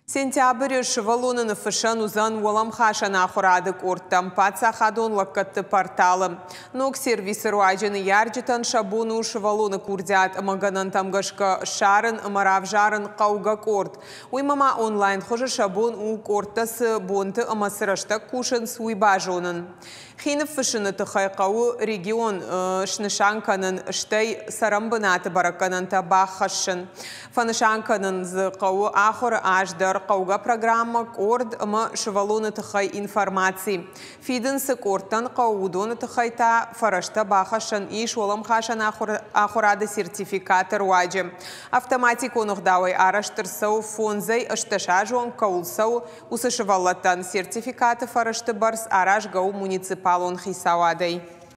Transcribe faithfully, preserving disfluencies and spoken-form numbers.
Сентябры сывӕллоны ныффыссӕн уыдзӕн уӕлӕмхасӕн ахуырады къордтӕм паддзахадон лӕггӕдты порталы. Ног сервисы руаджы ныййарджытӕн сӕ бон у сывӕллоны курдиат ӕмӕ гӕнӕнтӕм гӕсгӕ ссарын ӕмӕ равзарын хъӕугӕ къорд. Уыимӕ ма онлайн хуызы сӕ бон у, къордтӕ цы бонты ӕмӕ цы рӕстӕг кусынц, уый базонын. Хи ныффыссыны тыххӕй хъӕуы регион снысан кӕнын, стӕй цӕрӕнбынаты бӕрӕггӕнӕнтӕ баххӕссын. Фӕнысан кӕнын дзы хъӕуы ахуыры аз дӕр, хъӕугӕ программӕ, къорд ӕмӕ сывӕллоны тыххӕй информаци. Фидын цы къордтӕн хъӕуы, уыдоны тыххӕй та фӕрӕзтӕ бахӕссӕн ис уӕлӕмхасӕн ахуырады сертификаты руаджы. Автоматикон ӕгъдауӕй арӕзт ӕрцӕуы фондзӕй ӕстдӕс азы онг кӕуыл цӕуы, уыцы сывӕллӕттӕн. Сертификаты фӕрӕзты бӕрц аразгӕ у муниципалон хицауадӕй.